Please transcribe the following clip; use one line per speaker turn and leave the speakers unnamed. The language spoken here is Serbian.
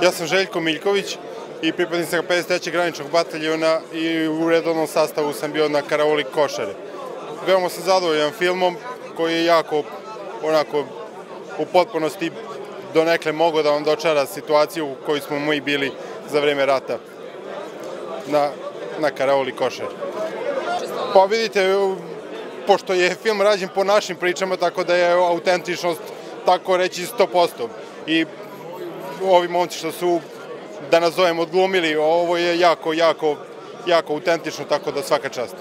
Ja sam Željko Miljković i pripadnik sam 53. graničnog bataljona i u redovnom sastavu sam bio na Karaoli Košare. Veoma sam zadovoljan filmom koji je jako, onako, u potpunosti donekle mogao da vam dočara situaciju u kojoj smo mi bili za vreme rata na Karaoli Košare. Pa vidite, pošto je film rađen po našim pričama, tako da je autentičnost, tako reći, 100%. I ovi momci što su, da nazovem, odglumili, ovo je jako autentično, tako da svaka čast.